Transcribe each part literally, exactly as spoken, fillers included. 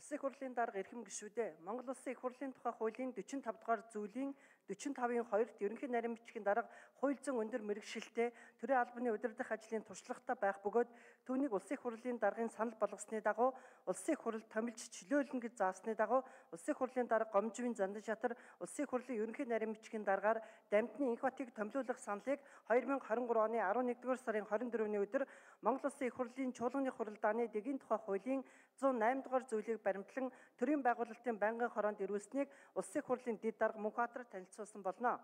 Улсын их хурлын дарга эрхэм гишүүдээ Монгол Улсын их хурлын тухай хуулийн дөрвөн тавь дугаар зүйлийн дөрвөн тавын хоёрт ерөнхий нарийн бичгийн дарга хууль зүйн өндөр мэргэжилтэй төрийн албаны удирдах ажлын туршлагатай байх бөгөөд түүнийг Улсын их хурлын даргын санал болгосны дагуу Улсын их хурл томилж чөлөөлнө гэж заасны дагуу Улсын их хурлын дарга Гомживын Зандан шатар Улсын их хурлын ерөнхий нарийн бичгийн даргаар Дамжны Инхбатыг томилуулах саналыг хоёр мянга хорин гурав оны арван нэгдүгээр сарын хорин дөрөвний өдөр Монгол Улсын их хурлын чуулганы хуралдааны дэгийн тухай хуулийн зуун найман дугаар зүйлийг баримтлан төрийн байгуулалтын байнгын хороонд ирүүлсэнийг Улсын их хурлын дэд дарга Мөнхбаатар танилцуулсан болно.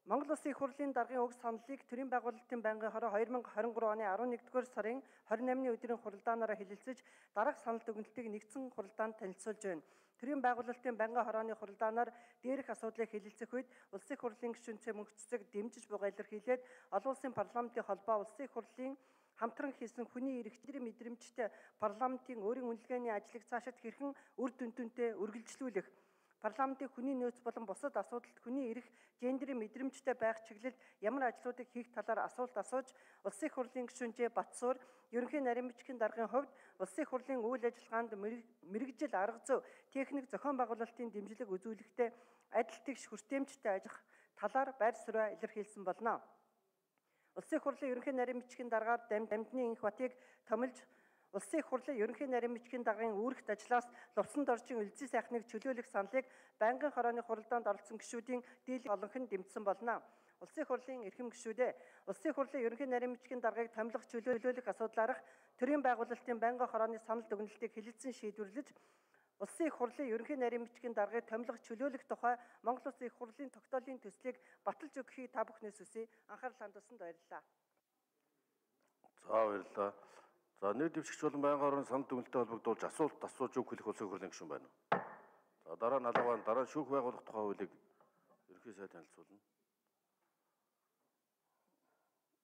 Монгол Улсын их хурлын даргын уг саналыг төрийн байгуулалтын байнгын хороо хоёр мянга хорин гурав оны арван нэгдүгээр сарын хорин наймны өдрийн хуралдаанаараа хэлэлцэж дараах санал дүгнэлтийг нэгдсэн хуралдаанд танилцуулж байна. Төрийн байгуулалтын байнгын хорооны хуралдаанаар дээрх асуудлыг хэлэлцэх үед Улсын их хурлын гишүүнцээ мөнхцөг дэмжиж буга илэрхийлээд олон улсын парламентын холбоо Улсын их хурлын хамтран хийсэн хүний эрхчлэрийн мэдрэмжтэй парламентын өөрийн үнэлгээний ажлыг цаашид хэрхэн үр дүндүнтэй үргэлжлүүлэх, парламентын хүний нөөц болон бусад асуудалд хүний эрх, гендерийн мэдрэмжтэй байх чиглэлд ямар ажлуудыг хийх талаар асуулт асууж, Улсын их хурлын гишүүнчээ Батсуур ерөнхий нарийн бичгийн даргын хувьд Улсын их хурлын үйл ажиллагаанд мэргэжил арга зүй, техник зохион байгуулалтын дэмжлэг үзүүлэхдээ адил тэгш хүртээмжтэй ажиллах талаар байр суурь илэрхийлсэн болно. Улсын их хурлын ерөнхий нарийн бичгийн даргаар Дамжны Инхбатыг томилж Улсын их хурлын ерөнхий нарийн бичгийн даргын үүрэгт ажлаас лувсанд орчин үлзий сайхныг чөлөөлөх саналыг байнгын хорооны хуралдаанд оролцсон гишүүдийн дийлэнх олонх нь дэмжсэн болно. Улсын их хурлын эрхэм гишүүдээ Улсын их хурлын ерөнхий нарийн бичгийн даргаыг томилох чөлөөлөх асуудлаарх төрийн байгуулалтын байнгын хорооны санал дүгнэлтийг хэлэлцэн шийдвэрлэж Улсын их хурлын ерөнхий нарийн бичгийн даргаыг томилох чөлөөлөх тухай Монгол Улсын их хурлын тогтоолын төслийг баталж өгөхийг та бүхнээс хүсье. Анхаарал хандуулсанд баярлалаа. За баярлалаа. За нийт дэвшигч болон байнгын хорооны санал дүгнэлттэй холбогдуулж асуулт асууж үг хэлэх Улсын их хурлын гишүүн байна уу? За дараа нь алгаваа дараа шүүх байгуулах тухай хуулийг ерөнхий сайд танилцуулна.